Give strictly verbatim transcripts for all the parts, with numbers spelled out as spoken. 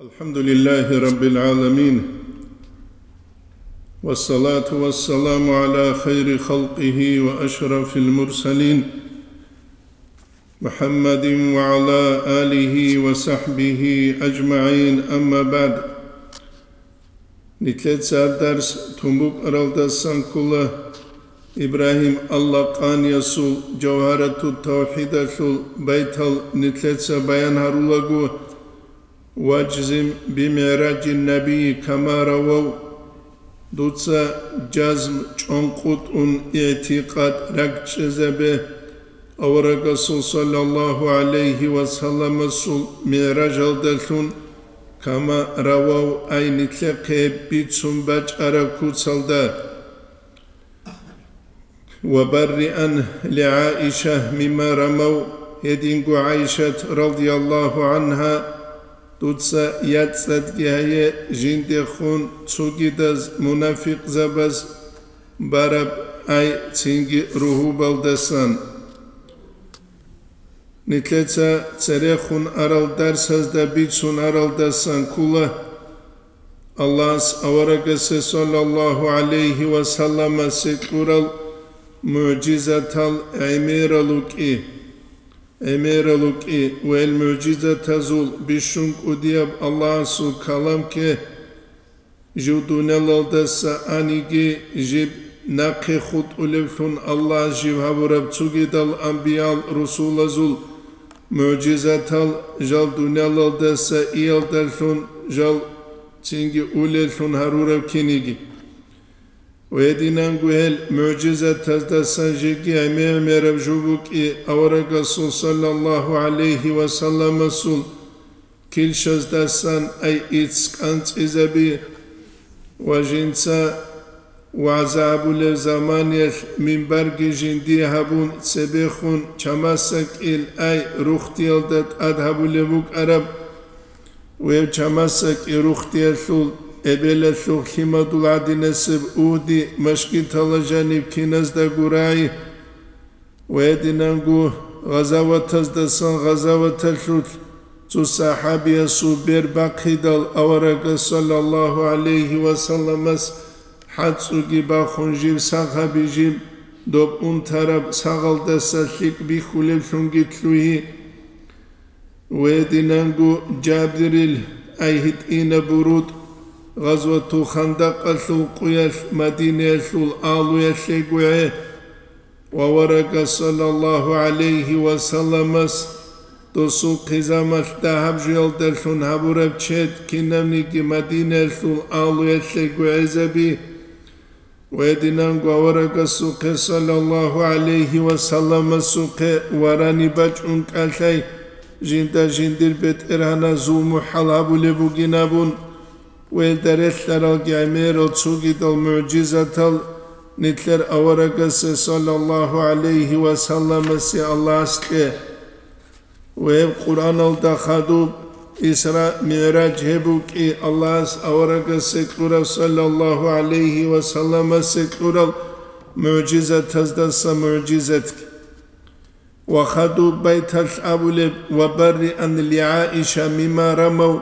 الحمد لله رب العالمين، والصلاة والسلام على خير خلقه وأشرف المرسلين، محمد وعلى آله وصحبه أجمعين، أما بعد. Нилъеца дарс тун букӀаралдасан ккола Ибрагьим Аллакъаниясул Жавгьаратут-тавхӀидалъул байтал нилъеца баян гьарулаго: «Важзим бимигӀражин набийи кама равав», дуца жазм чӀонкъутӀун игӀтикъад ракӀчӀезабе, аварагасул саллаллагьу гӀалайгьи ва салламасул мигӀражалдалъун, кама равав, ай нилъехъе бицун бачӀараб куцалда. «Ва барриан ли ГӀаиша мимма рамав», гьединго ГӀайшат радияллагьу гӀангьа, дуца яцӀцӀадги гьае жиндехун цогидаз мунафикъзабаз бараб, ай цинги ругьубалдасан. Нилъеца церехун арал дарсазда бицун аралдасан ккола Аллагьас аварагасе саллаллагьу гӀалайгьи ва салламасе кьурал мугӀжизатал гӀемерал рукӀи, гӀемерал рукӀи ва гьел мугӀжизатазул бищун кӀудияб Аллагьасул каламги, жив дуниялалдаса аниги, жиб нахъе хутӀулевлъун Аллагьас жив гьабураб цогидал анбиял-русулазул мугӀжизатал жал дуниялалдаса иялдалъун, жал цинги улеллъун гьарураб киниги. Ва гьединанго гьел мугӀжизатаздасан жеги гӀемер-гӀемераб жо букӀи аварагасул саллаллагьу гӀалайгьи ва салламасул килщаздасан ай ицц кӀанцӀизаби ва жинца вагӀза гьабулеб заманиялъ минбарги жиндие гьабун цебехун чамасакӀил ай рухтиялда тӀад гьабулеб букӀараб, гьев чамасакӀи рухтиялъул эбелалъул лъимадул гӀадинасеб Угьди машгитала жаниб киназдаго рагӀи, ва гьединанго гъазаватаздасан гъазаваталъулъ цо сахӀабиясул бер бахъидал аварагас саллаллагьу гӀалайгьи ва салламас хӀацӀцӀуги бахун жив сагъ гьаби жиб доб унтараб сагъалдаса лъикӀ бихьулеблъунги лъугьи. Ва гьединанго Жабирил ай гьитӀинаб бурутӀ гъазватул Хандакъалъул къуялъ Мадинаялъул агьлуялъего гӀе, ва аварагас саллаллагьу гӀалайгьи ва салламас досул хъизамалъ дагьаб жуялдалъун гьабураб чед кинабниги Мадинаялъул агьлуялъего гӀезаби. Ва гьединанго аварагасухъе саллаллагьу гӀалайгьи ва салламасухъе варани бачӀун кӀалъай жинда жиндир бетӀергьаназ зулму-хӀал гьабулеб бугин абун, ва гьелда релълъаралги гӀемерал цогидал мугӀжизатал нилъер аварагасе саллаллагьу гӀалайгьи ва салламасе Аллагьас кье. Ва гьеб Къуръаналда хадуб Исра МигӀраж гьеб букӀи Аллагьас аварагасе кьураб саллаллагьу гӀалайгьи ва салламасе кьурал мугӀжизатаздаса мугӀжизатги. Ва хадуб байталъ абулеб: «Ва барриан ли ГӀаиша мимма рамав»,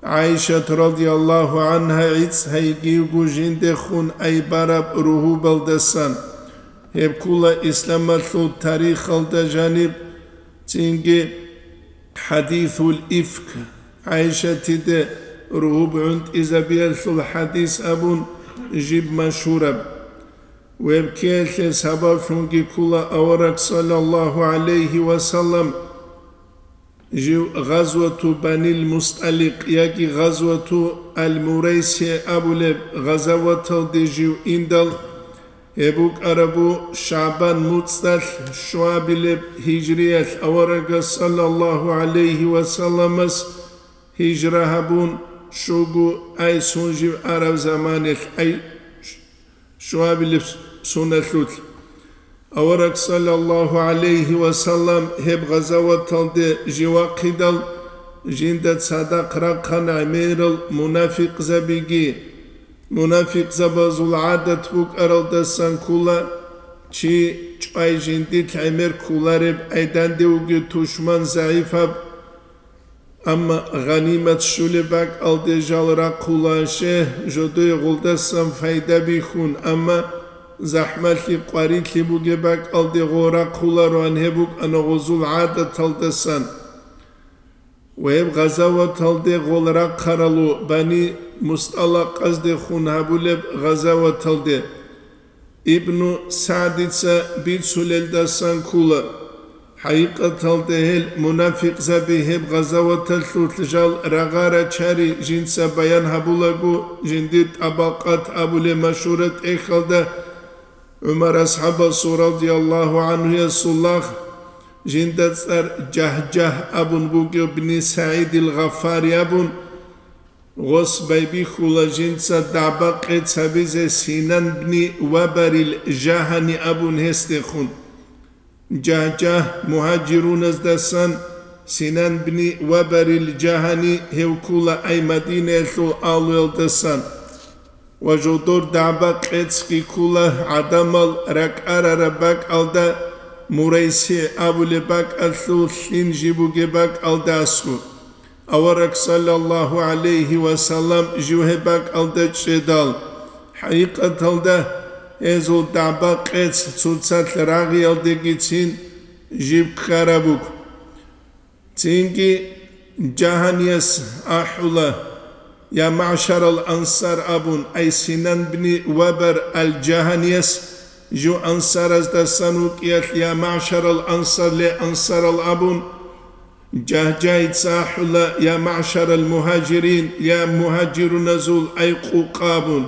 ГӀайшат радияллагьу гӀангьа гӀицӀ гьайгивго жиндехун ай бараб ругьубалдасан. Гьеб ккула исламалъул тарихалда жаниб, цинги хӀадисул ифк, ГӀайшатиде ругьуб гӀунтӀизабиялъул хӀадис абун жиб машгьураб. Гьеб ккеялъе сабаблъунги ккула авараг саллаллагьу гӀалайгьи ва саллам жив гъазвату Банил Мусталикъ яги гъазвату Ал-Мурайси абулеб гъазаваталде жив индал, гьеб букӀарабу ШагӀбан муцӀалъ щуабилеб гьижриялъ аварагас саллаллагьу гӀалайгьи ва салламас гьижра гьабун, щуго ай сун жив араб заманалъ ай щуабилеб суналъулъ. Авараг саллаллагьу гӀалайгьи ва саллам гьеб гъазаваталде жив вахъидал, жинда цадахъ рахъана гӀемерал мунафикъзабиги. Мунафикъзабазул гӀадат букӀаралдасан ккула, чи чӀвай жиндилъ гӀемер кколареб, ай дандевги тушман загӀипаб Амма гъанимат щулеб бакӀалде жал рахъула, ше, жодое гъолдасан пайда бихьун, амма захӀмалъи къварилъи бугеб бакӀалде гъол рахъулароан, гьеб букӀана гъозул гӀадаталдасан. Ва гьеб гъазаваталде гъол рахъаралу Бани МустӀалакъаздехун гьабулеб гъазаваталде. Ибну СагӀдица бицулелдасан ккола. ХӀакъикъаталда гьел мунафикъзаби гьеб гъазаваталъулъ жал рагъа рачари жинца баян гьабулаго, жиндир ТӀабакъат абулеб машгьураб тӀехьалда ГӀумар асхӀабасул радияллагьу гӀанхуясул лагъ, жинда цӀар Жагьжагь абун бугев, бни СагӀидил Гъаффари абун, гъос байбихьула жинца дагӀба-къец гьабизе Синан бни Вабарил Жагьани абун гьесдехун. Жагьжагь мугьажируназдасан, Синан бни Вабарил Жагьани гьев ккола ай Мадинаялъул агьлуялдасан. Ва жодор дагӀба-къецги ккола гӀадамал ракӀарараб бакӀалда, Мурайси абулеб бакӀалъул лъим жиб бугеб бакӀалда аскӀо. Авараг саллаллагьу гӀалайгьи ва саллам жив гьеб бакӀалда чӀедал, хӀакъикъаталда гьезул дагӀба-къец цоцалъ рагъиялдегицин жиб ккараб буго. Цинги Жагьанияс ахӀула, я магӀшарал ансар абун, ай Синан бни Вабар ал-Жагьанияс, жив ансараздасан вукӀиялъ, я магӀшарал ансар, ле ансарал абун, Жагьжагьица ахӀула, я магӀшарал мугьажирин, я мугьажируназул ай къукъа абун,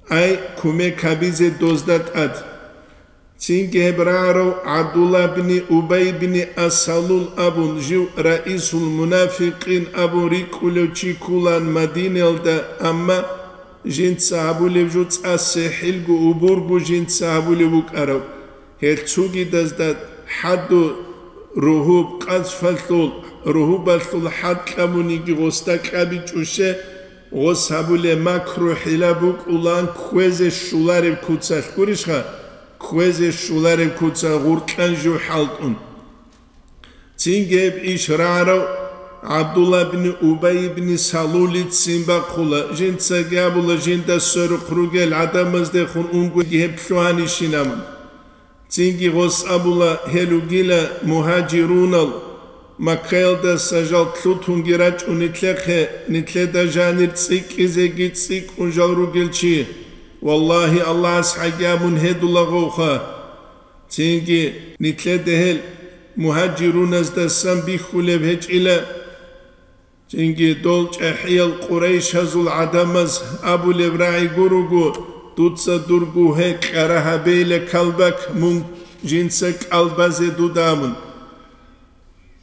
ай кумек гьабизе дозда тӀад. Цинги гьеб рагӀарав ГӀабдуллагь бни Убай бни Ас-Салул абун, жив раисул мунафикъин абун рикӀкӀулев чи кколаан Мадинаялда, амма жинца гьабулеб жо цӀа сихӀилго, убурго жинца гьабулеб букӀараб. Гьел цогидазда хӀадур ругьуб, къазфалъул, ругьубалъул хӀад кьабуниги гъосда кьабичӀоше, гъос гьабулеб макру-хӀила букӀулаан кквезе щолареб куцалъ гурищха, кквезе щолареб куцалъ гъуркьан жив хӀалтӀун. Цинги гьеб иш рагӀарав ГӀабдуллагь бни Убай бни Салулицин бахъула, жинцаги абула, жинда сверухъ ругел гӀадамаздехун унгоги гьеб лъугьанищин абун. Цинги гъос абула, гьел ругила мугьажирунал, Маккаялдаса жал лъутунги рачӀун нилъехъе, нилъеда жанир цӀикӀкӀизеги цӀикӀкӀун жал ругел чи. Валлагьи, Аллагьас хӀаги абун гьедулаговха. Цинги нилъеда гьел мугьажируназдасан бихьулеб гьечӀила. Цинги дол чӀахӀиял къурайшазул гӀадамаз абулеб рагӀи гуруго, дуца дур гугье кьара гьабейила калбак, мун жинца кӀал базе дуда абун.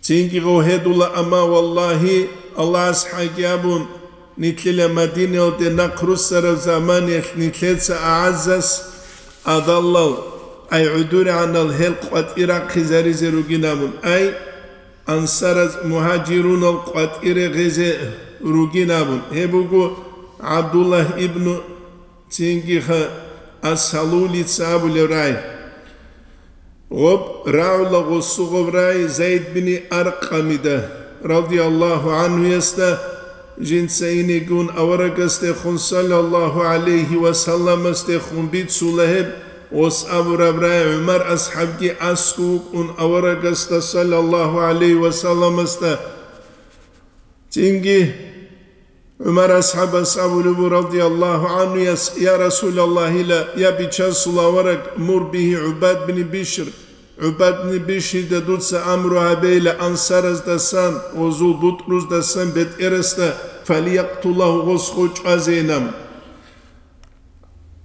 Цинги гъов гьедула, амма, валлагьи, Аллагьас хӀаги абун, нилъила Мадинаялде нахъ руссараб заманиялъ нилъеца агӀаззас адаллал, ай гӀудургӀанал гьел къватӀир рахъизаризе ругин абун, ай ансараз мугьажирунал къватӀире гъезе ругин абун. Гьеб буго ГӀабдуллагь ибну, цинги ха, Ас-Салулица абулеб рай. Гъоб рагӀула гъосугъаб рай Зайд бини Аркъамида, радияллагьу гӀанхуясда, жинца инигун аварагасдехун, саллаллагьу гӀалайгьи ва салламасдехун, бицула гьеб. Гъос абураб рай ГӀумар асхӀабги аскӀов вукӀун аварагасда, саллаллагьу гӀалайгьи ва салламасда. Цинги ГӀумар асхӀабас абулеб буго, радияллагьу гӀанхуяс: «Я Расулаллагьила, я Бичасул авараг, мур бигьи ГӀубад бин Бишр, ГӀубад бин Бишрида дуца амру гьабейила ансараздасан, гъозул бутӀруздасан бетӀерасда, фалиякътулагьу, гъос гъов чӀвазейин».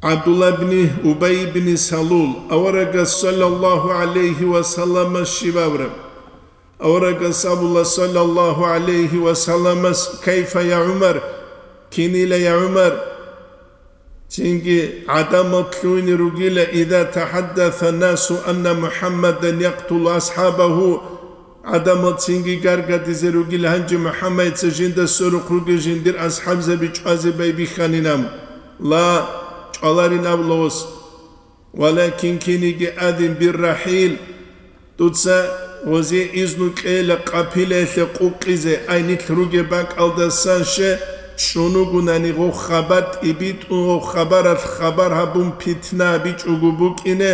ГӀабдулла бни Убай бни Салул, аварагас саллаллагьу гӀалайгьи ва салламас щиб абураб? Аварагас абула, саллаллагьу гӀалайгьи ва салламас: «Кайфа, я ГӀумар? Кинила, я ГӀумар?» Цинги гӀадамал лъугьине ругила: «Иза тахӀаддаса насу анна МухӀаммадан якътулу асхӀабагьу». ГӀадамал цинги гаргадизе ругила: «Гьанже МухӀаммадица жинда сверухъ ругел жиндир асхӀабзаби чӀвазе байбихьанин», – ам. Ла, чӀваларин абула гъос. «Валакин киниги адин биррахӀил, дуца Гъозе изну кьейила къапилаялъе къукъизе, ай нилъ ругеб бакӀалдасан ще чӀунугунани гъов хабар тӀибитӀун, гъов хабаралъ хабар гьабун питна бичӀого букӀине,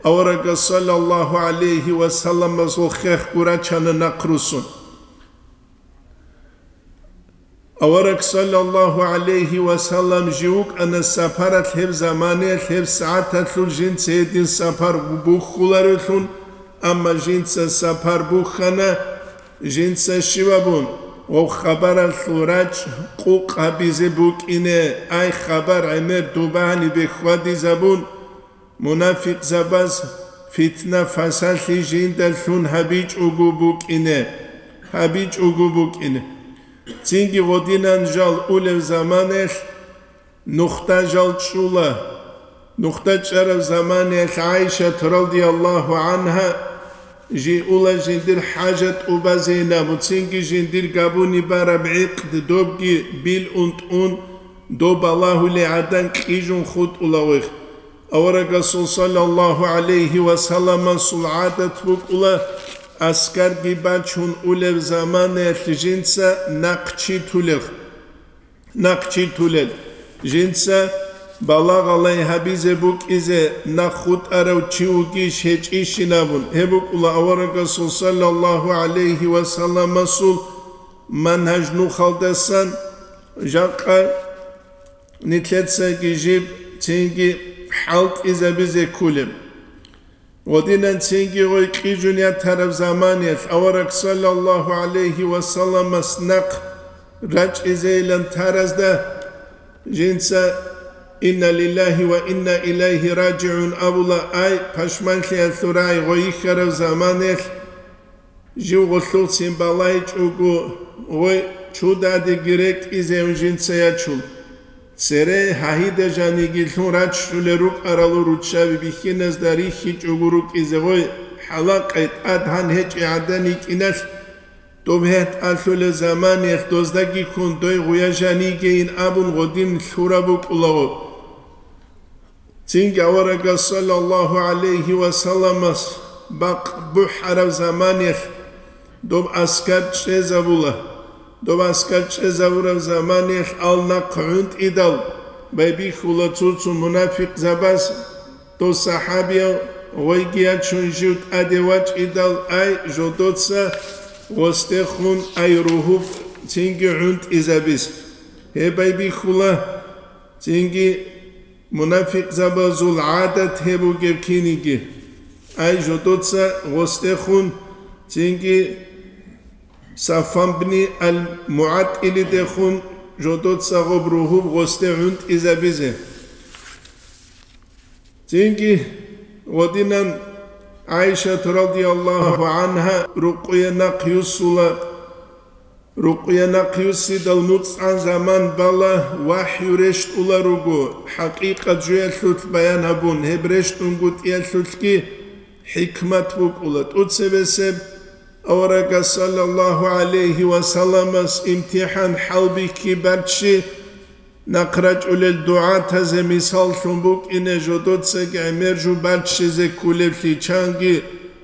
аварагас саллаллагьу гӀалайгьи ва салламасул хехго рачана нахърусун. Авараг саллаллагьу гӀалайгьи ва саллам жив вукӀана сапаралъ гьеб заманаялъ, гьеб сагӀаталъул жинца гьедин сапар бухьуларевлъун, амма жинца сапар бухьана, жинца щивабун, гъов хабаралъул рачӀ къукъ гьабизе букӀине, ай хабар гӀемер дубагьани бехьвадизабун, мунафикъзабаз фитна-фасалъи жиндалъун гьабичӀого букӀине, гьабичӀого букӀине. Цинги гъодинан жал улев заманаялъ нухда жал чӀула. Нухда чӀараб заманаялъ ГӀайшат радияллагьу гӀангьа жи ула жиндир хӀажат тӀубазейин абун, цинги жиндир габуни бараб гӀикъд добги билун тӀун, доб балагьулей гӀадан кьижун хутӀула гъой. Аварагасул саллаллагьу гӀалайгьи ва салламасул гӀадат букӀула, аскарги бачун улеб заманаялъ жинца нахъчи тулел. Нахъчи тулел. Жинца балагъалай гьабизе букӀизе нахъ хутӀарав чи вугищ гьечӀищин абун, гьеб букӀула аварагасул саллаллагьу гӀалайгьи ва салламасул мангьаж нухалдасан жакъа нилъецаги жиб цинги хӀалтӀизабизе кколеб. Гъодинан цинги гъой кьижун ятараб заманиялъ авараг саллаллагьу гӀалайгьи ва салламас нахъ рачӀизейилан таразда жинца: «Инна лиллагьи ва инна илайгьи ражигӀун», – абула, ай, пашманлъиялъул рагӀи гъой йихьараб заманиялъ, жив гъолъухъцин балайчӀого, гъой чудадеги рекӀизейун жинца ячун. Цере гьагьида жаниги лъун раччулел рукӀаралу руччаби бихьиназда рихьичӀого рукӀизе гъой, хӀалакъай тӀад гьан гьечӀи гӀадан йикӀиналъ, доб гьетӀ алъулел заманиялъ доздаги ккун дой гъуя жанигейин абун гъодин лъураб букӀулаго. Цинги аварагас саллаллагьу гӀалайгьи ва салламас бакъ бухӀараб заманиялъ доб аскар чӀезабула. Доб аскар чӀезабураб заманиялъ ал нахъ гӀунтӀидал байбихьула цо-цо мунафикъзабаз, дов сахӀабияв гъойги ячун жив тӀаде вачӀидал, ай, жодоца гъосдехун, ай, ругьуб цинги гӀунтӀизабиз. Гьеб байбихьула. Цинги мунафикъзабазул гӀадат гьеб бугеб киниги, ай, жодоца гъосдехун, цинги Сафван бни ал-МугӀаттилидехун жодоца гъоб ругьуб гъосде гӀунтӀизабизе. Цинги гъодинан ГӀайшат радияллагьу гӀангьа рукъуе нахъ юссула. Рукъуя нахъ юссидал нуцӀан заман бала вахӀю рещтӀула руго, хӀакъикъат жуялъулъ баян гьабун, гьеб рещтӀунгутӀиялъулъги хӀикмат букӀула. ТӀуцебесеб аварагас саллаллагьу гӀалайгьи ва салламас имтихӀан хӀалбихьи барччи, нахъ рачӀулел дугӀатазе мисаллъун букӀине жодоцаги гӀемер жо баччизе кколеблъи, чанги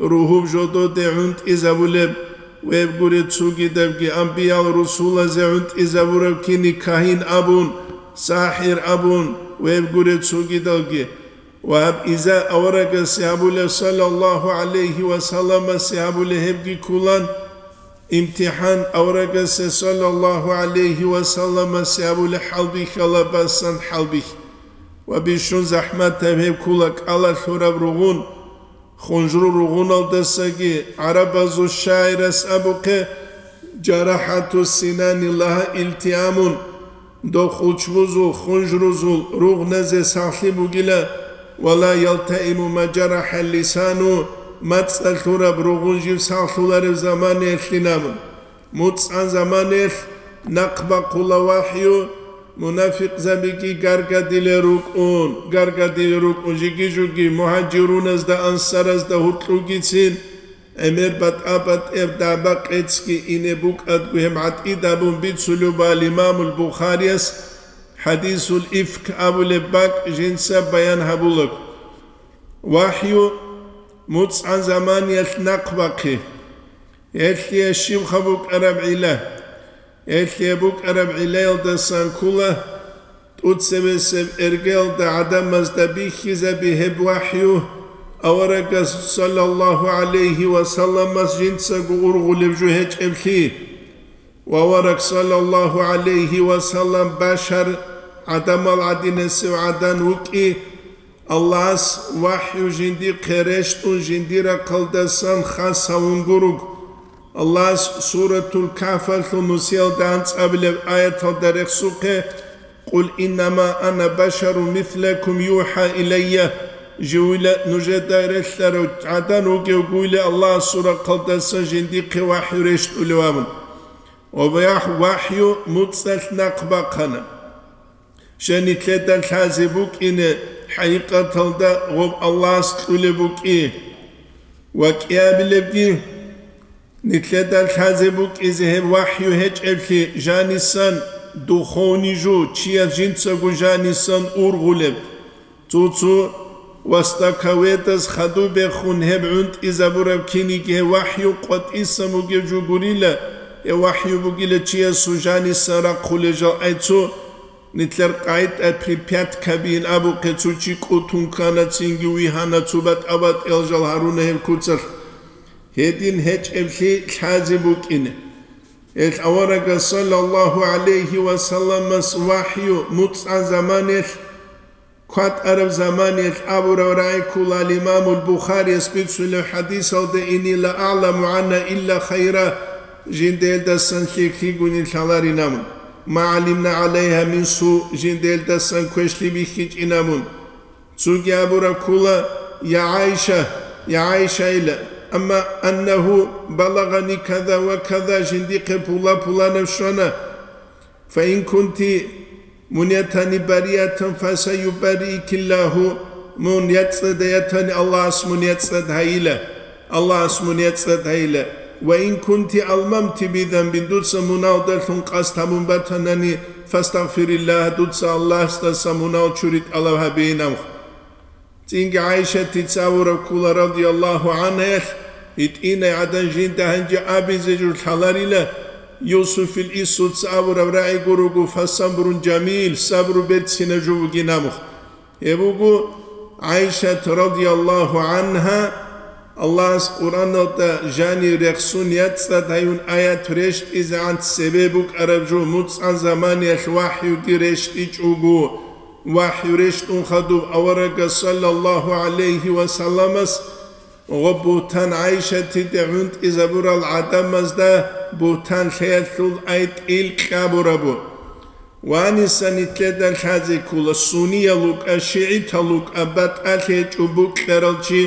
ругьуб жододе гӀунтӀизабулеб, веб гуре цогидабги амбиял-русулазе гӀунтӀизабураб кини кагьин абун, сахӀир абун, веб гуре цогидалги. Ва гьаб иза аварагасе гьабулеб, саллаллагьу гӀалайгьи ва салламасе гьабулеб гьебги кколан, имтихӀан аварагасе саллаллагьу гӀалайгьи ва салламасе абулеб хӀалбихьала басан хӀалбихь. Ва бищун захӀматаб гьеб ккола кӀалалъураб ругъун, хунжру ругъуналдасаги гӀарабазул шагӀирас абухъе: «Жарахату синани лагьа илтиамун». Дов хучбузул, хунжрузул ругъназе сахлъи бугила, ва ла ялтаиму ма жарахӀа лисану, мацӀалъураб ругъун жив сахлъуларев заманаялъин абун. МуцӀан заманаялъ нахъ бахъула вахӀю, мунафикъзабиги гаргадилел рукӀун, гаргадилел рукӀун жиги-жуги мугьажируназда, ансаразда гьуркьугицин, гӀемер батӀа-батӀияб дагӀба-къецги ине букӀадго гьеб гӀатӀид абун бицулеб буго имамул Бухарияс хӀадисул ифк абулеб бакӀ жинца баян гьабулаго. ВахӀю муцӀан заманиялъ нахъ бахъи. Гьелъие щибха букӀараб гӀилла? Гьелъие букӀараб гӀиллаялдасан ккола тӀоцебесеб эргалда гӀадамазда бихьизаби гьеб вахӀю, аварагас, саллаллагьу гӀалайгьи ва салламас, жинцаго ургъулеб жо гьечӀеблъи. Ва авараг, саллаллагьу гӀалайгьи ва саллам, башар, гӀадамал гӀадинасев гӀадан вукӀи, Аллагьас вахӀю жиндихъе рещтӀун жиндир рахъалдасан хас гьавун гуруг. Аллагьас Суратул Кагьфалъул нусиялда анцӀабилеб аяталда рехсухъе: «Къул иннама ана башарун мислакум юхӀа илайя», живила нужеда релълъарав гӀадан вугев гуйла Аллагьасул рахъалдасан жиндихъе вахӀю рещтӀулев абун. Ва вахӀ-, вахӀю муцӀалъ нахъ бахъана. Щай нилъеда лъазе букӀине, хӀакъикъаталда гъоб Аллагьас кьулеб букӀи. Ва кӀиабилебги, нилъеда лъазе букӀизе гьеб вахӀю гьечӀеблъи жанисан, духовный жо, чияс жинцаго жанисан ургъулеб. Цо-цо вастаковедаз хадуб бехун гьеб гӀунтӀизабураб киниги гьеб вахӀю къватӀисан бугеб жо гурила, гьеб вахӀю бугила чиясул жанисан рахъулел жал. Ай цо, нилъер къагӀида припяткабиин абухъе, цо чи кӀутун ккана, цинги вигьана, цо батӀа-батӀиял жал гьаруна гьеб куцалъ. Гьедин гьечӀеблъи лъазе букӀине. Гьел аварагас, саллаллагьу гӀалайгьи ва салламас, вахӀю муцӀан заманиялъ, кватӀараб заманиялъ абураб рагӀи ккола Имамул Бухарияс бицунеб хӀадисалда: «Инни ла аъламу гӀанна илла хайра», жиндаялдасан лъикӀлъи гуни лъаларин абун, «ма гӀалимна гӀалайгьа мин су», жиндаялдасан квешлъи бихьичӀин абун. Цоги абураб ккола: «Я ГӀайша, я ГӀайша», ила, «амма аннагьу балагъани каза ва каза», жиндихъе пула-пуланаб щвана. «Фа ин кунти мун ятани бариатан, фасаюбарриикиллагьу», мун яцӀцӀад ятани, Аллагьас мун яцӀцӀад гьайила, Аллагьас мун яцӀцӀад гьайила. «Ва ин кунти алмамти бизанбин», дуца муналдалъун къасд гьабун батанани, «фастагъфириллагь», дуца Аллагьасдаса мунал чури тӀалаб гьабейин абун. ЦӀинги ГӀайшатица абураб ккола, радияллагьу гӀангьаялъ, гьитӀинай гӀадан жинда гьанже абизе жо лъаларила, Юсуфил Исуца абураб рагӀи гурого: «Фасабрун жамил», сабру берцинаб жо бугин абун. Гьеб буго ГӀайшат, радияллагьу гӀангьа, Аллагьас Къуръаналда жанив рехсун яцӀцӀад гьаюн аят рещтӀизегӀан цебе букӀараб жо, муцӀан заманиялъ вахӀюги рещтӀичӀого, вахӀю рещтӀун хадуб аварагас, саллаллагьу гӀалайгьи ва салламас, гъоб бугьтан ГӀайшатиде гӀунтӀизабурал гӀадамазда бугьтан лъеялъул ай тӀил кьабурабу. Ваниса нилъеда лъазе ккола, суниял вукӀа, шигӀитал вукӀа, батӀалъи гьечӀо букьарал чи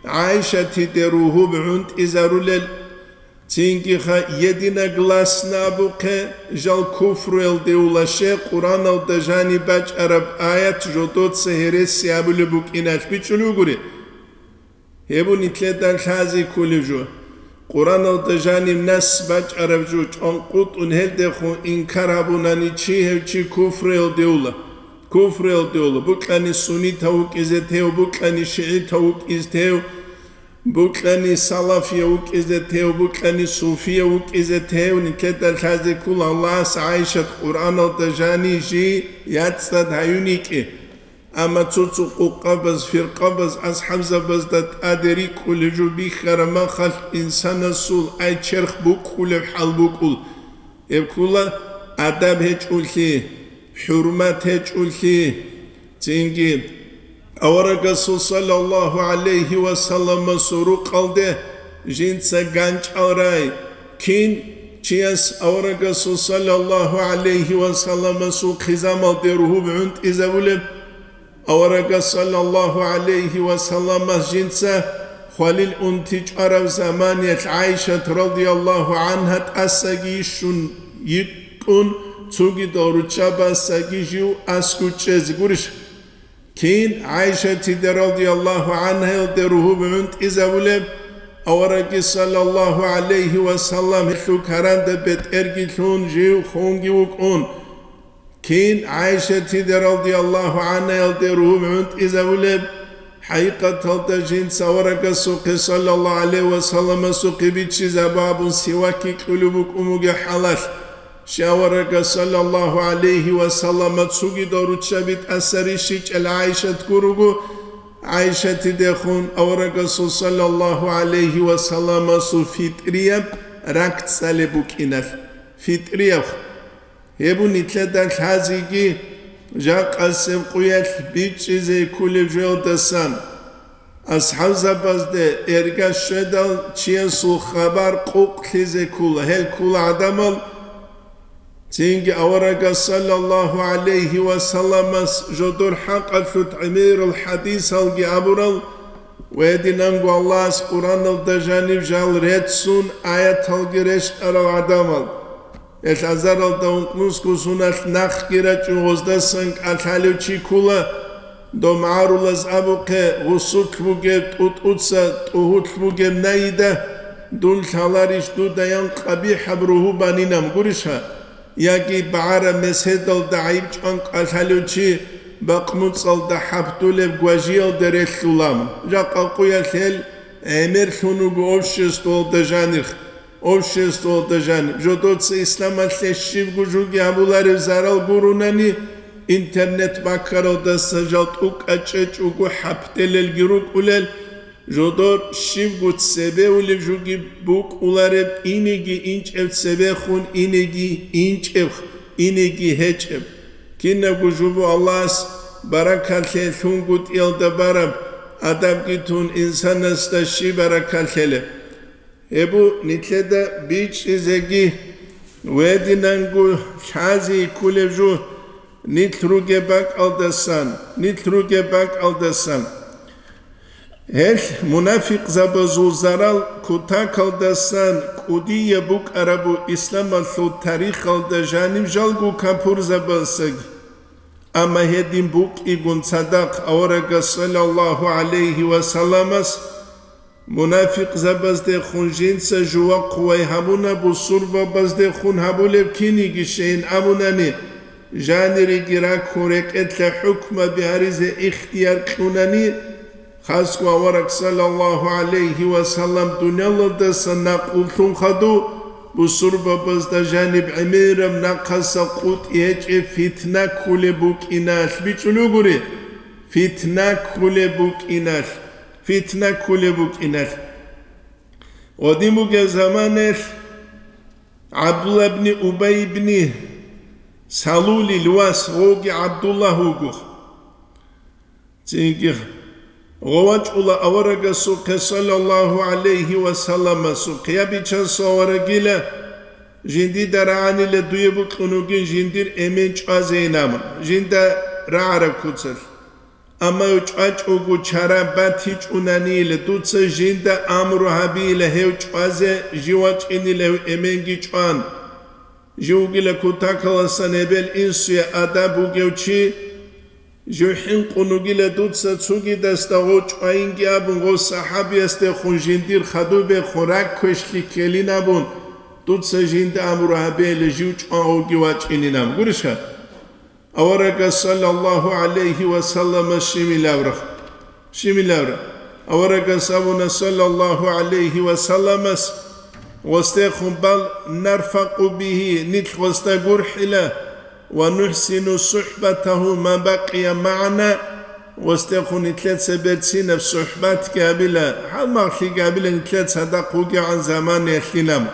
ГӀайшатиде ругьуб гӀунтӀизарулел. Цинги-ха единогласно абухъе, жал куфруялде улаше, Къуръаналда жаниб бачӀараб аят жодоца гьереси абулеб букӀиналъ бичӀчӀулеб бугури. Гьеб нилъеда лъазе кколеб жо. Къуръаналда жаниб нас бачӀараб жо чӀванкъутӀун гьелдехун инкар гьабунани чи, гьев чи куфруялде ула. Куфруялде ула, букьани суннитав вукӀизе тев, букьани шигӀитав вукӀизе тев, букьани салафияв вукӀизе тев, букьани суфияв вукӀизе тев, нилъеда лъазе ккола Аллагьас ГӀайшат Къуръаналда жани жий яцӀцӀад гьаюн йикӀи. Амма цо-цо къукъабаз, фиркъабаз, асхӀабзабазда тӀаде рикӀкӀулеб жо бихьараб махалъ инсанасул ай черх букӀкӀулеб хӀал букӀул. Гьеб ккола адаб гьечӀолъи, хӀурмат гьечӀолъи. Цинги аварагасул, саллаллагьу гӀалайгьи ва салламасул, рукъалде жинца ганчӀал рай. Кин чияс аварагасул, саллаллагьу гӀалайгьи ва салламасул, хъизамалде ругьуб гӀунтӀизабулеб? Аварагас, саллаллагьу гӀалайгьи ва салламас, жинца хвалил унти чӀвараб заманиялъ ГӀайшат, радияллагьу гӀангьа, тӀасаги йищун йикӀун, цогидал руччабазги жив аскӀов чӀезе гурищ? Кин ГӀайшатиде, радияллагьу гӀангьаялде, ругьуб гӀунтӀизабулеб? Аварагги, саллаллагьу гӀалайгьи ва саллам, гьелъул каранда бетӀерги лъун, жив хунги вукӀун. Кин ГӀайшатиде, радияллагьу гӀангьаялде, ругьуб гӀунтӀизабулеб? ХӀакъикъаталда жинца аварагасухъе саллаллагьу гӀалайгьи ва салламасухъе биччизабун сивакги кьулеб букӀун бугеб хӀалалъ, щай аварагас саллаллагьу гӀалайгьи ва саллама цогидал руччаби тӀаса рищичӀел ГӀайшат гуруго, ГӀайшатидехун аварагасул саллаллагьу гӀалайгьи ва салламасул фитӀрияб ракӀ цӀалеб букӀиналъ. ФитӀрияб. Гьеб нилъеда лъазеги жакъасеб къуялъ бичӀчӀизе кколеб жоялдасан, асхӀабзабазде эрга щведал чиясул хабар къукълъизе ккола, гьел ккола гӀадамал. Цинги аварагас саллаллагьу гӀалайгьи ва салламас жодор хӀакъалъулъ гӀемерал хӀадисалги абурал, ва гьединанго Аллагьас Къуръаналда жаниб жал реццун аяталги рещтӀарал гӀадамал. Гьел азаралда ункънусго суналъ нахъги рачӀун гъоздасан кӀалъалев чи ккола, дов магӀарулаз абухъе, гъусулъ бугеб тӀутӀуца тӀугьулъ бугеб найида, дун лъаларищ дуда ян къабихӀаб ругьу банинаб гурищха? Яги багӀараб меседалда гӀайиб чӀван кӀалъалев чи бакъмуцӀалда хӀаптулеб гважиялда релълъулам. Жакъа къуялъ гьел гӀемерлъун вуго обществоялда жанир. Обществоялда жаниб жодоца исламалъе щибго жуги гьабуларев зарал гурунани, интернет баккаралдаса жал тӀукӀа чӀечӀого хӀаптелелги рукӀулел, жодор щибго цебе улеб жуги букӀулареб, инеги инчӀеб цебехун, инеги инчӀеб, инеги гьечӀеб. Кинабго жубу Аллагьас баракалъе лъунгутӀиялда бараб, адабги тун инсанасда щиб баракалъелеб? Гьеб бу нилъеда бичӀчӀизеги, гьединанго лъази кколеб жо, нилъ ругеб бакӀалдасан, нилъ ругеб бакӀалдасан. Гьелъ мунафикъзабазул зарал кутакалдасан кӀудияб букӀарабу исламалъул тарихалда жаниб жалго капурзабасаги. Амма гьедин букӀигун цадахъ аварагас саллаллагьу гӀалайгьи ва салламас Мунафикъзабаздехун жинца жува хъувай гьабуна, бусурбабаздехун гьабулеб киниги щейин абунани, жанириги раккун рекӀелъа хӀукмаби гьаризе ихтияр кьунани, хасго авараг саллаллагьу гӀалайгьи ва саллам дуниялалдаса накъуллъун хадув, бусурбабазда жаниб гӀемераб нахъаса къутӀи гьечӀеб фитна ккулеб букӀиналъ бичӀчӀулев гури, фитна ккулеб букӀиналъ. Фитна ккулеб букӀиналъ. Гъодин бугеб заманаялъ ГӀабдулла ибни Убай ибни Салулил вас гъоги ГӀабдуллагь вуго. Цинги гъов вачӀула аварагасухъе, саллаллагьу гӀалайгьи ва салламасухъе, я бичасул аварагила, жиндида рагӀанила дуе букьун вугин жиндир эмен чӀвазейин абун, жинда рагӀараб куцалъ. Амма гьев чӀвачӀого чара батичӀунанила, дуца жинда амру гьабила гьев чӀвазе, жив вачӀинила гьев эменги чӀван. Жив вугила кутакаласан гьебел инсуе адаб бугев чи, жив хӀинкъун вугила дуца цугидасда гъов чӀвайинги абун, гъов сахӀабиясдехун жиндир хадубехун ракквешлъи ккелин абун, дуца жинда амру гьабейила жив чӀван гъовги вачӀинин абун. Гурищха? Аварагас саллаллагьу гӀалайгьи ва салламас щибилавра. Щибилавра. Аварагас абуна саллаллагьу гӀалайгьи ва салламас, гъосдехун бал нарфакъу бигьи, нилъ гъосда гурхӀила, ва нухӀсину сухӀбатагьу ма бакъия магӀана, гъосдехун нилъеца берцинаб сухӀбатги гьабила, хӀалмагълъиги гьабила нилъеца цадахъ вугевгӀан заманаялъилан.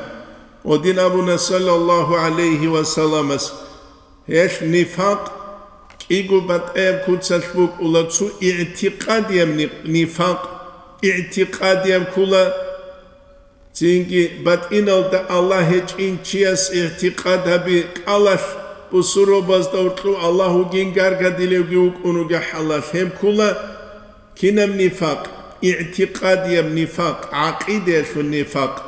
Гъодин абуна саллаллагьу гӀалайгьи ва салламас. Гьелъ нифакъ кӀиго батӀаяб куцалъ букӀула, цо игӀтикъадияб ни-, нифакъ, игӀтикъадияб ккола, цинги батӀиналда Аллагь гьечӀин чияс игӀтикъад гьаби кӀалалъ, бусурбабазда гьоркьов Аллагь вугин гаргадилевги вукӀун вугеб хӀалалъ гьеб ккола. Кинаб нифакъ? ИгӀтикъадияб нифакъ, гӀакъидаялъул нифакъ.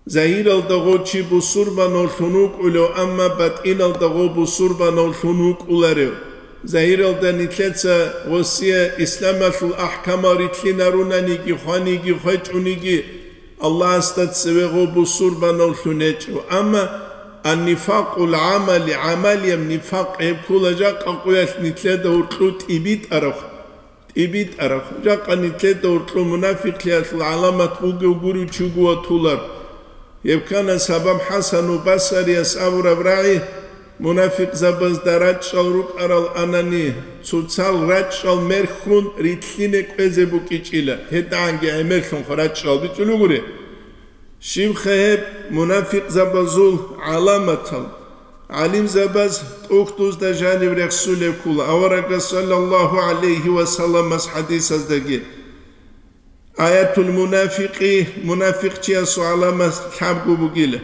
Загьиралда гъов чи бусурбанавлъун вукӀулев, амма батӀиналда гъов бусурбанавлъун вукӀуларев. Загьиралда нилъеца гъосие исламалъул ахӀкамал рилълъинарунаниги, хваниги, хвечӀониги, Аллагьасда цеве гъов бусурбанавлъун гьечӀев. Амма ан-нифакъул гӀамали, гӀамалияб нифакъ гьеб ккола жакъа къуялъ нилъеда гьоркьов тӀибитӀараб. ИбитӀараб, жакъа нилъеда уркьун мунафикълъиялъул гӀаламат бугев гурев чи вуго ватулар. Гьеб ккана сабаб ХӀасану Басарияс абураб рагӀи: мунафикъзабазда рачӀчӀал рукӀарал анани, цоцал рачӀчӀал мерхьун рилълъине кӀвезе букӀичӀила, гьедагӀанги гӀемерлъун рачӀчӀал бичӀчӀулугури. Щибха гьеб мунафикъзабазул гӀаламатал? ГӀалимзабаз тӀухьдузда жаниб рехсулеб ккола аварагас саллаллагьу гӀалайгьи ва салламас хӀадисаздаги: «Аятул мунафикъи», мунафикъчиясул гӀаламат лъабго бугила: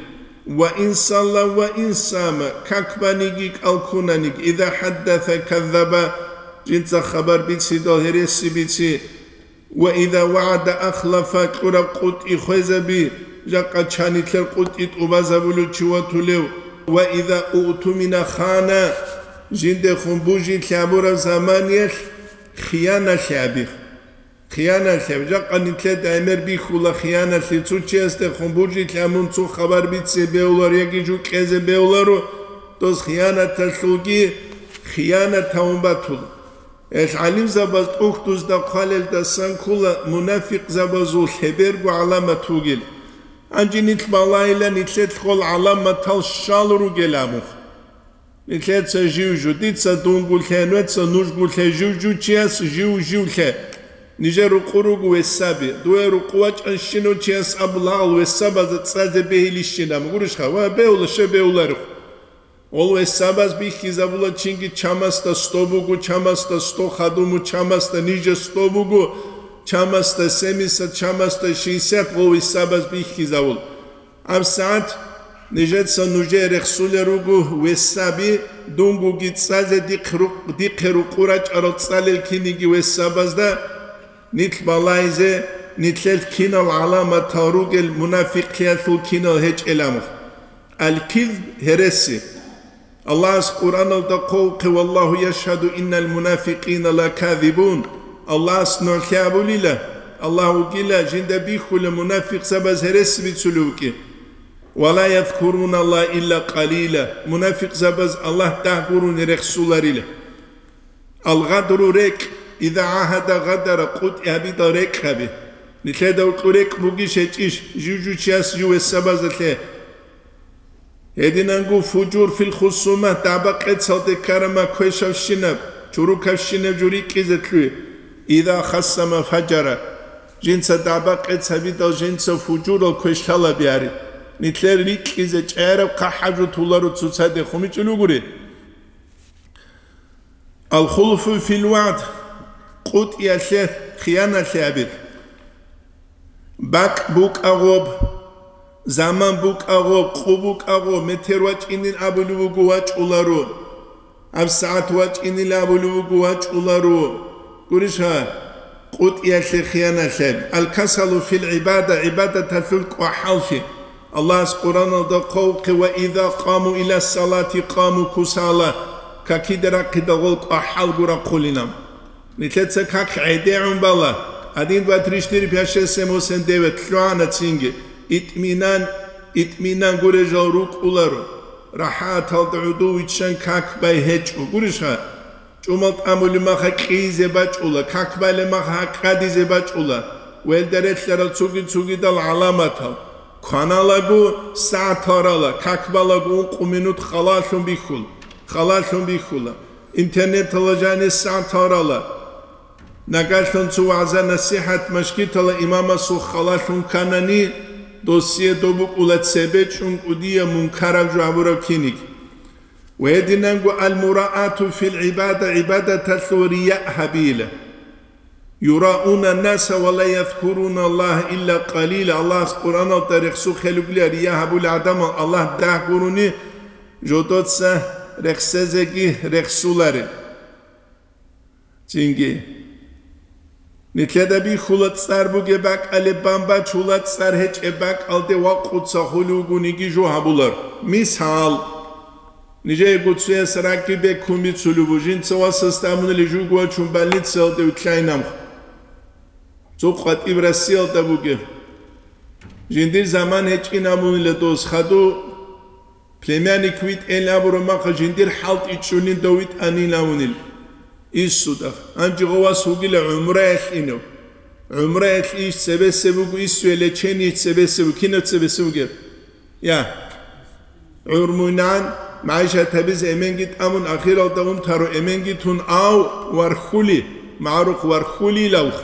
«Ва ин салла ва ин сама», как баниги кӀал ккунаниги, «иза хӀаддаса каззаба», жинца хабар бицидал гьереси бици, «ва иза вагӀада ахлафа», кьураб къутӀи хвезаби, жакъа чанилъер къутӀи тӀубазабулев чи ватулев, «ва иза уътумина хана», жиндехун бужилъи гьабураб заманиялъ хияналъи гьабих. Хияналъи гьаб, жакъа нилъеда гӀемер бихьула хияналъи, цо чиясдехун бужилъи гьабун цо хабар бице бегьуларо яги жо кьезе бегьуларо, дос хиянаталъулги хиянат гьавун батула. Гьел гӀалимзабаз тӀухьдузда хъвалелдасан ккола мунафикъзабазул лъеберго гӀаламат вугел. Гьанже нилъ балайила нилъелъ гъол гӀаламатал щал ругел абун. Нилъеца жив-жу, дица дунго лъе, нужеца нужго лъе, жив-жу чияс жив-жив лъе. Нижер рукъу руго весаби, дуе рукъу вачӀанщинав чияс абулагъал весабазда цӀазе бегьилищинаб гурищха ва бегьула, щай бегьуларев. Гъол весабаз бихьизабула чинги чамасда сто буго, чамасда сто хадуму, чамасда ниже сто буго, чамасда семьдесят, чамасда шестьдесят гъол весабаз бихьизабул. ГьабсагӀат нижеца нужее рехсулел руго весаби, дунгоги цӀазе дихъ рукъ-, дихъе рукъу рачӀарал цӀалел киниги весабазда, нилъ балайзе, нилъелъ кинал гӀаламатал ругел мунафикълъиялъул кинал гьечӀел амр. Аль-кизб гьереси. Аллагьас Къуръаналда хъвавухъе: «Валлагьу яшгьаду иннал мунафикъина лаказибун». Аллагьас нугӀлъи абулила, Аллагь вугила жинда бихьула мунафикъзабаз гьереси бицулев вукӀи. «Ва ла язкуруналлагьа илла къалила», мунафикъзабаз Аллагь дагь гурони рехсуларила. Алгъадру рекӀ, иза гӀагьада гъадара, къутӀи гьабидал рекӀ гьаби. Нилъеда гьоркьор рекӀ бугищ гьечӀищ, жив-жив чияс жив весабазда лъе. Гьединанго фужур фил хусума, дагӀба-къецалде ккарама квешавщинаб, чурукавщинаб жо рикӀкӀизе лъугьи. Иза хасама фажара. Жинца дагӀба-къец гьабидал жинца фужурал квешлъалаби гьари. Нилъер рикӀкӀизе чӀараб хъахӀаб жо туларо цоцаде хумичӀул вугури. Алхулфу фил вагӀд, къутӀиялъе хияналъи гьабир. БакӀ букӀа гъоб, заман букӀа гъоб, къу букӀа гъоб, метер вачӀинин абулев вуго, вачӀуларо. ГьабсагӀат вачӀинил абулев вуго, вачӀуларо. Гурищ гьа, къутӀиялъе хияналъи гьаб. Алкасалу фил гӀибада, гӀибадаталъул кӀвахӀаллъи. Аллагьас Къуръаналда хъвавухъе: «Ва иза къаму иля салати къаму кусала», какиде рахъидал гъол кӀвахӀалго рахъулинан. Нилъеца как гӀедегӀун бала, один, два, три, четыре, пять, шесть, семь, восемь, девять лъугӀана цинги, итминан, итминан гурел жал рукӀуларо, рахӀаталда гӀодов виччан как бай гьечӀо. Гурищха? ЧӀумал тӀамулеб маха кьизе бачӀула, как балеб маха гьакъадизе бачӀула, велда релълъарал цуги-цугидал гӀаламатал. Кваналаго сагӀат гьарала, как балаго ункъо минут халалъун бихьул-, халалъун бихьула. Интернеталда жанир сагӀат гьарала. Нагагьлъун цо вагӀза-насихӀат машгитала имамасул халалъун кканани, досие доб букӀула цебе чӀун кӀудияб мункараб жо гьабураб киниг. Ва гьединанго аль-мураату фил гӀибада, гӀибадаталъул рияъ гьабила. Юрауна наса ва ла язкуруна Аллагьа илла къалила, Аллагьас Къуръаналда рехсухъе лугила, рияъ гьабулел гӀадамал Аллагь дагь гурони жодоца рехсезеги рехсуларел. Цинги. Нилъеда бихьула цӀар бугеб бакӀалде бан бачула, цӀар гьечӀеб бакӀалде вакъуца хулев вугониги жо гьабулар. Мисал, нижеего цояс ракӀги бекун бицулеб бу, жинца васасда абунили жуго вачун больницаялде вилълъайин абун. Цо къватӀиб Россиялда бугеб. Жиндир заман гьечӀин абунила дос, хаду Племянник витӀейин абураб маха жиндир хӀалтӀичӀунин дов витӀанин авунил. Иссуда. Гьанже гъов вас вугила гӀумраялъ инев. ГӀумраялъ иш цебесеб буго, иссуе лечение цебесеб буго, кинаб цебесеб бугеб? Я. ГӀурмуйнан, магӀишат гьабизе эменги тӀамун, ахиралда унтаро эменги тун, ав вархули, магӀарухъ вархулилавх.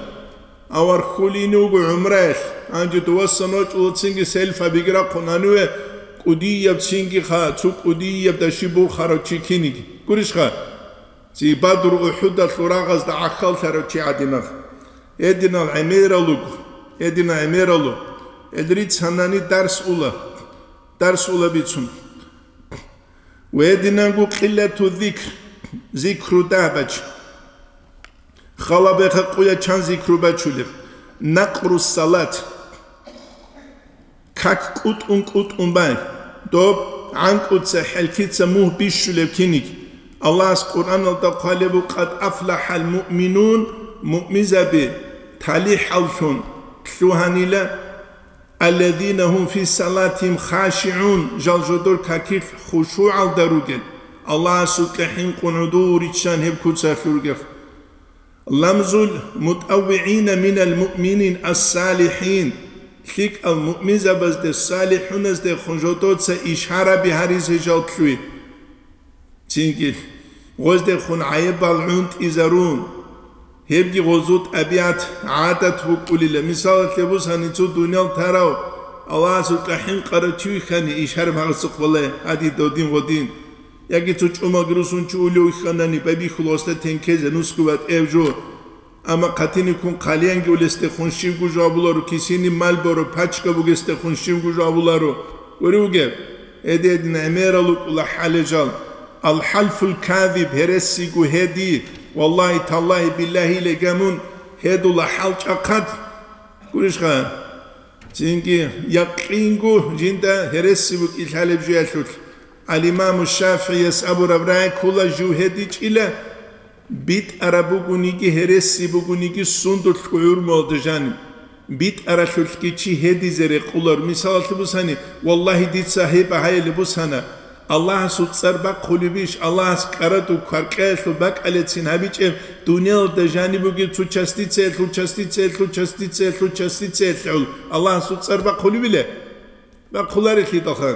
Ав вархулин вуго гӀумраялъ, гьанже дувасан вачӀула цинги селфа биграхъун гьаниве кӀудияб цинги ха, цо кӀудияб даши бурхарав чи киниги. Гурищха? Ци Бадру-УхӀудалъул рагъазда гӀахьаллъарав чи гӀадинав. Гьединал гӀемерал руго, гьединал гӀемерал руго. Гьел рицанани дарс ула, дарс ула бицун. Ва гьединанго къиллату зикр, зикру дагь бач. Халаб мехалъ къуя чан зикру бачулеб? Накъру салат. Как кӀутӀун-кӀутӀун бай, доб гӀанкӀуца, хӀелкица мугь бищулеб киниг. Аллагьас Къуръаналда хъвалеб буго: «Къад афлахӀал муъминун», муъмизаби талихӀаллъун лъугьанила, «аллазина гьум фи салатихим хашигӀун», жал жодор какилъ хушугӀалда ругел, Аллагьасукьа хӀинкъун гӀодов риччан гьеб куцалъ ругел. Ламзул мутӀаввигӀина минал муъминин ас-салихӀин, лъикӀал муъминзабазде, салихӀуназдехун жодоца ишараби гьаризе жал лъуй. Цинги гъоздехун гӀайибал гӀунтӀизарун. Гьебги гъозул тӀабигӀат, гӀадат букӀулила. Мисалалъе бусани, цо дуниял тарав Аллагьасукьа хӀинкъарав чи вихьани, ишараб гьагъасухъ балай, гьади додин гъодин. Яги цо чӀумалги русун чи улев вихьанани, байбихьула гъосда тенкезе нусго батӀев жо. Амма хъатиниккун хъалиянги улесдехун щивго жо абуларо, кисини мал боро, пачка бугесдехун щивго жо абуларо. Гури вугеб? Гьедин гӀемерал рукӀула хӀалежал. Ал-хӀалфул казиб, гьересиго гьеди, валлагьи, таллагьи, биллагьи, легамун гьедула хӀалчӀахъад. Гурищха? Цинги якъинго жинда гьереси букӀин лъалеб жуялъулъ. Ал-Имаму ШафигӀияс абураб рагӀи ккола, жив гьедичӀила, битӀараб бугониги, гьереси бугониги сундулъго гӀурмуялда жаниб. БитӀаралъулъги чи гьедизе рекъолар. Мисалалъе бусани, валлагьи, дица гьеб гьайилеб бусана. Аллагьасул цӀар бахъулебищ? Аллагьас кӀараду кваркьаялъул бакӀалецин гьабичӀеб, дуниялалда жаниб бугеб цо частицаялъул, частицаялъул, частицаялъул, частицаялъул Аллагьасул цӀар бахъулебила? Бахъуларелъидалха.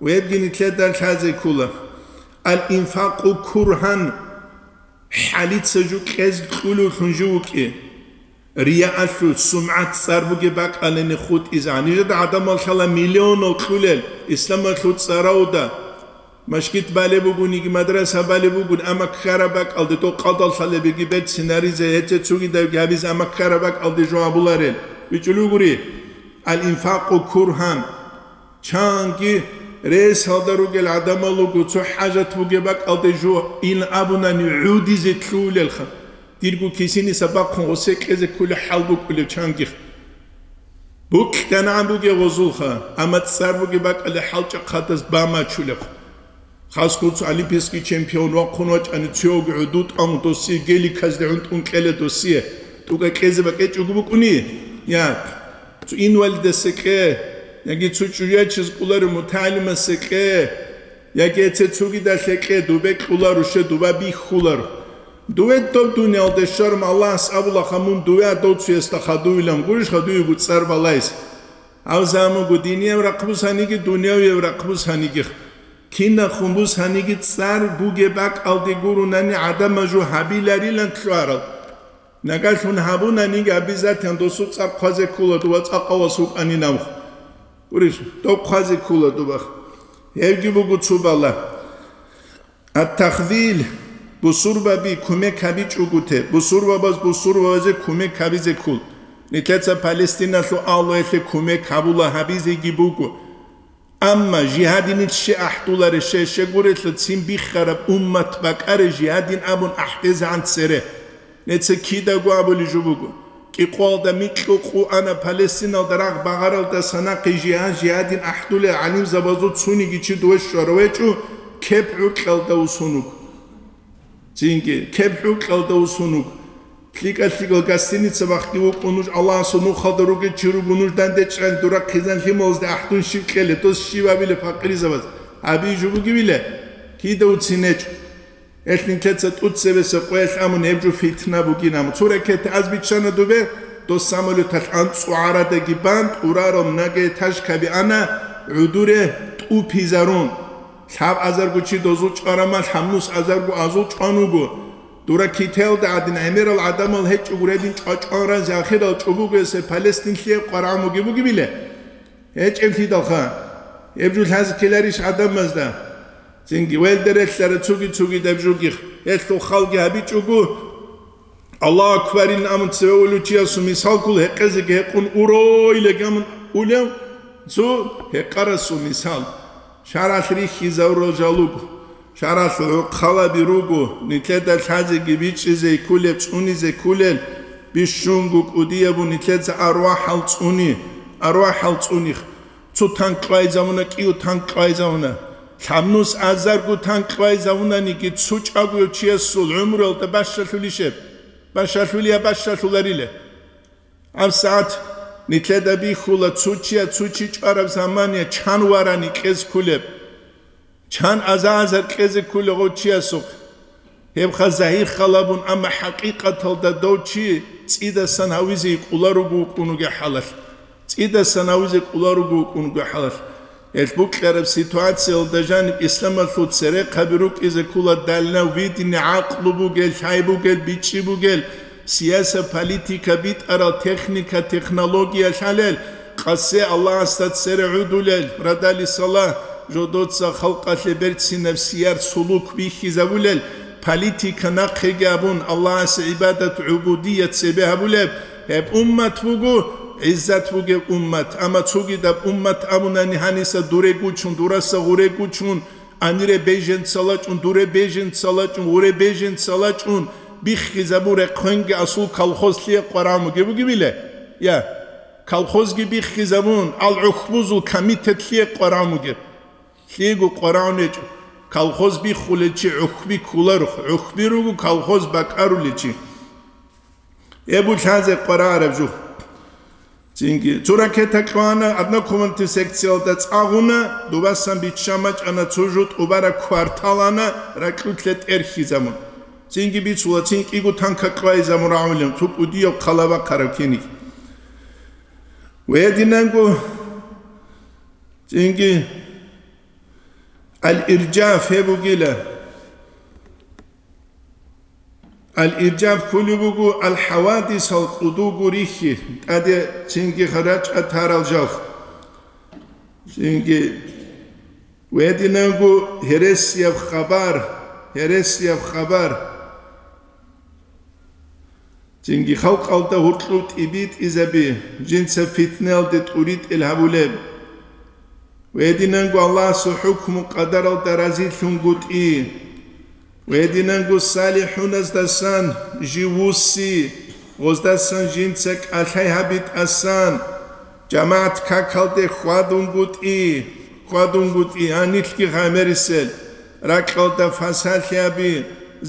Вебги нилъеда лъазе ккола. Ал-инфакъу кургьан, хӀалица жо кьезе кьулевлъун жо вукӀи. Рияалъул, сумгӀат цӀар бугеб бакӀалине хутӀизегӀан. Нижеда гӀадамал лъала миллионал кьулел исламалъул цӀаравда. Машгит балеб бугониги, мадраса балеб бугони, амма ккараб бакӀалде, дов къадал лъалебеги берцин гьаризе, гьечӀеб цогидабги гьабизе, амма ккараб бакӀалде жо абуларел. БичӀчӀулев гури, ал-инфакъу кургьан. Чанги ресалда ругел гӀадамал руго, цо хӀажат бугеб бакӀалде жо ин абунани гӀодизе лъугьулелха. Дирго кисиниса бахъун гъосе кьезе кколеб хӀал букӀулев чангих. БукьанагӀан бугеб гъозулха, амма цӀар бугеб бакӀалде хӀалчӀахъадаз бамачулеб. Хасго цо олимпийский чемпион вахъун вачӀани, цоги гӀуду тӀаму досие, геликазде гӀунтӀун кьела досие, тӀука кьезе бакӀечӀого букӀуни? Я, цо инвалидасекье, яги цо чӀужуячиз кӀоларев мутагӀалимасе кье, яги эце цогидалъе кье, дубе кьуларо, ще дуба бихьуларо. Дуве доб дуниялде щварун Аллагьас абулаха, мун дуве а дов цуясда хадувилан, гурищха дуего цӀар балайс? Гьав замуго динияб рахъ бусаниги, дунявияб рахъ бусаниги. Кинахун бусаниги цӀар бугеб бакӀалде гурунани гӀадамал жо гьабиларилан лъугьарал. Нагагьлъун гьабунаниги, обязательно досул цӀар хъвазе ккола дова цӀакъав вас вукӀанин абухъ. Гурищ, доб хъвазе ккола дубах. Гьевги буго цо бала. Ат-тахзил, бусурбаби кумек гьабичӀого те, бусурбабаз бусурбабазе кумек гьабизе ккол. Нилъеца Палестиналъул агьлуялъе кумек гьабула, гьабизеги буго. Амма жигьадинил щай ахӀдуларищ, щай гурелъул цин биххараб уммат бакӀарай жигьадин абун ахӀдезегӀан цере. Неца кидаго абулеб жо буго. КӀикъоялда микьго къо ана Палестиналда рагъ багъаралдаса нахъе жигьад-жигьадин ахӀдулел гӀалимзабазул цониги чи дове щварав гьечӀо, кеп гӀуркьалда усун вуго. Цинги, кеп гӀуркьалда усун вуго. ЛъикӀа-лъикӀал гостиница бахъги вукӀун нуж, Аллагьасул нухалда ругел чи руго, нуж данде чӀван, дура хъизан лъималазде ахӀдун щиб кьелеб, дос щиб абилеб пакъирзабаз? Гьабизе жо бугебила? Кида уцин гьечӀо. Гьелъ нилъеца тӀуцебесеб къоялъ амун гьеб жо фитна бугин, амма цо ракета аз биччана дубе, дос самолеталъ анцӀго гӀарадаги бан, тӀурарал многоэтажкаби ана, гӀудуре тӀупизарун. Лъаб азарго чи дозул чӀварама, лъабнус азарго азул чӀван вуго. Дура кителда гӀадин гӀемерал гӀадамал гьечӀого гьедин чӀвачӀван разе ахирал чӀобугесе Палестинлъие къварагӀмуги бугебиле? ГьечӀеблъидалха, гьеб жо лъазе ккеларищ гӀадамазда? Цинги велде релълъара цуги-цугидаб жугих, гьелъул халги гьабичӀого, Аллагьу акбарин амун цеве улев чиясул мисалкул гьекъезеги гьекъун уройлаги амун улев цо гьекъарасул мисал. ШаргӀалъ рихьизавурал жал руго, шаргӀалъ гӀурхъалаби руго, нилъеда лъазеги бичӀчӀизе кколеб, цӀунизе кколел, бищунго кӀудияб бу нилъеца арвахӀал цӀуни, арвахӀал цӀуних. Цо танк кьвайзавуна, кӀиго танк кьвайзавуна. Лъабнус азарго танк кьвайзавунаниги, цо чӀагояв чиясул гӀумруялда бащалъулищеб? Бащалъулия, бащалъуларила. ГьабсагӀат нилъеда бихьула, цо чия цо чи чӀвараб замания чан варани кьез кколеб. Чан аза-азар кьезе кколев гъов чиясухъ. Гьебха загьир халабун, амма хӀакъикъаталда дов чи цӀидасан гьавизе кӀоларуго вукӀун вугеб хӀалалъ. ЦӀидасан гьавизе кӀоларуго вукӀун вугеб хӀалалъ. Гьелъ букьараб ситуациялда жаниб исламалъул церехъаби рукӀизе ккола дальновидение, гӀакълу бугел, лъай бугел, бичӀчӀи бугел, сияса, политика битӀарал, техника, технология лъалел, къасе Аллагьасда цере гӀодулел, радали салагь, жодоца халкъалъе берцинаб сияр сулук бихьизабулел, политика нахъеги абун, Аллагьасе гӀибадат, гӀубудият цебе гьабулеб, гьеб уммат буго, гӀиззат бугеб уммат. Амма цогидаб уммат абунани гьаниса дуре гучун, дураса гъуре гучун, анире беженцала чӀун, дуре беженцала чӀун, гъуре беженцала чӀун, биххизабуре хъвенги асул колхозлъие къварамуге бугебиле? Я, колхозги биххизабун, ал гӀухьбузул комитетлъие къварамуге. Лъиего къварагӀун гьечӀо. Колхоз биххулел чи гӀухьби кколаро, гӀухьби руго колхоз бакӀарулел чи. Эбу лъазе къварагӀараб жо. Цинги цо ракета кьвана, однокомнатный секциялда цӀагъуна, дубасан биччан бачӀана цо жо, тӀубараб квартал ана, ракьулъе тӀерхьизабун. Цинги бицула, цин кӀиго танка кьвайзабун рагӀулин, цо кӀудияв хъалабахъараб киниг. Гьединанго цинги Ал-Иржаф гьеб бугила. Ал-Иржаф кколеб буго ал-хӀавадисал кӀудулго рихьи, тӀаде цинги рачӀа тарал жал. Цинги гьединанго гьересияб хабар, гьересияб хабар. Цинги халкъалда гьуркьуб тӀибитӀизаби, жинца питналде тӀуритӀел гьабулеб. Гьединанго Аллагьасул хӀукму-къадаралда разилъунгутӀи. Гьединанго салихӀуназдасан жив вусси, гъоздасан жинца кӀалъай гьабитӀасан, жамагӀат какалде хьвадунгутӀи, хьвадунгутӀи, гьанилъги гъамерисел, ракьалда фасалъи гьаби,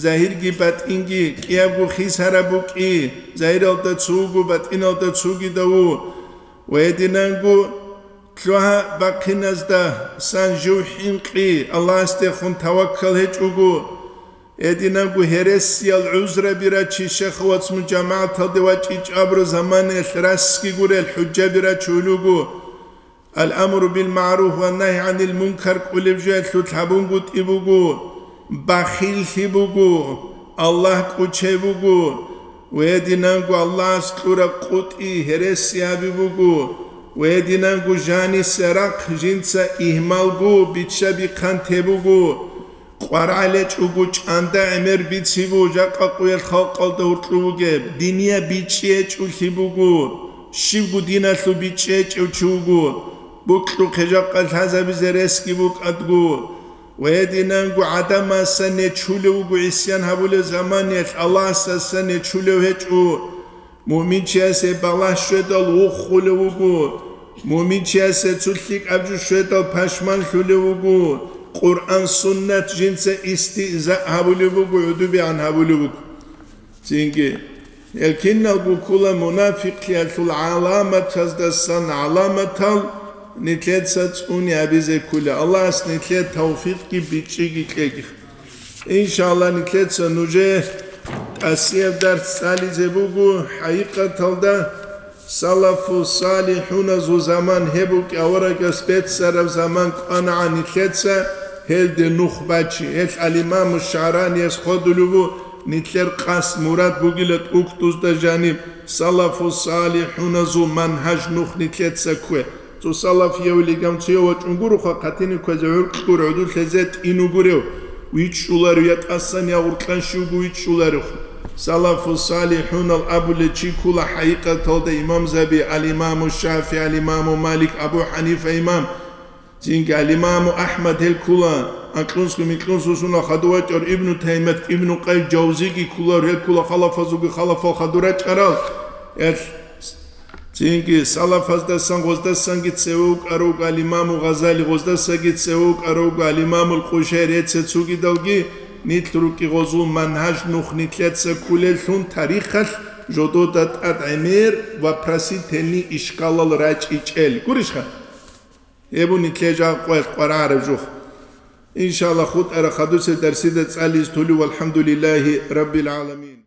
загьирги батӀинги кӀиябго хисараб букӀи, загьиралда цуго, батӀиналда цугидав ву. Гьединанго лъугьа бахъиназдасан жив хӀинкъи, Аллагьасдехун таваккал гьечӀого. Гьединанго гьересиял гӀузраби рачи, шехавац мун жамагӀаталде вачӀичӀ абураб заманаялъ расги гурел хӀужаби рачулего. Ал-амру бил-магӀруф ва нагьи гӀанил мункар кӀолеб жоялъулъ гьабунгутӀи буго, бахиллъи буго, Аллагь кӀучей буго, гьединанго Аллагьас кьураб къутӀи гьереси гьаби буго, гьединанго жаниса рахъ жинца игьмалго бичча-бихъан те буго. КъварагӀлечӀого чӀанда гӀемер бицибу жакъа къуялъ халкъалда гьуркьу бугеб, диния бичӀчӀичӀулъи буго, щибго диналъул бичӀчӀичӀев чи вуго, букьухъе жакъа лъазабизе ресги букӀадго, ва гьединанго гӀадамасан нечулев вуго гӀисян гьабулев заманиялъ, Аллагьасдасан нечулев гьечӀо. Муъминчиясе балагь щведал вухулев вуго, муъминчиясе цо лъикӀаб жо щведал пашманлъулев вуго, Къуръан-суннат жинца истигьзаъ гьабулев буго, гӀудубигӀан гьабулев вуго. Цинги, гьел киналго ккола мунафикълъиялъул гӀаламатаздасан гӀаламатал, нилъеца цӀуни гьабизе ккола. Аллагьас нилъее тавфикъги бичӀчӀиги кьеги. Иншалла, нилъеца нужее тӀасияб дарс цӀализе буго. ХӀакъикъаталда, салафу салихӀуназул заман гьеб букӀи, аварагас беццараб заман кӀванагӀан нилъеца гьелде нух бачи. Гьелъ ал-Имаму ШагӀраниялъ хъодулеб бу нилъер къасд-мурад бугила тӀухьдузда жаниб, салафу салихӀуназул манхӀаж нух нилъеца ккве. Цо салаф явлигам цо вачӀун гуроха, хъатине кквезе гӀуркьгур гӀодулъезе тӀинугурев, вичӀчӀуларев, я тӀасан, я гъуркьан щивго вичӀчӀуларев. Салафу салихӀунал абулев чи ккула хӀакъикъаталда имамзаби, ал-Имаму ШафигӀи, ал-Имаму Малик, Абу ХӀанифа имам. Цинги ал-Имаму АхӀмад гьел ккула, анкьнусго микьнусго сунал хадур вачӀар Ибну Таймият, Ибну Къайим Жавзиги кколар, гьел ккула халафазулги халафал хадур рачӀарал. Гьел Цинги салафаздасан гъоздасанги цеве вукӀарав вуго ал-Имаму Гъазали, гъоздасаги цеве вукӀарав вуго ал-Имамул Къушайри, гьеца цогидалги нилъ рукӀи гъозул манхӀаж нух нилъеца кколеллъун тарихалъ жодода тӀад гӀемер вопросительный ишкалал рачӀичӀел. Гурищха? Гьеб нилъее жакъа къваригӀараб жух. Иншалла, хутӀараб хадусеб дарсида цӀализе толев. ВалхӀамдулиллагьи раббил гӀаламин.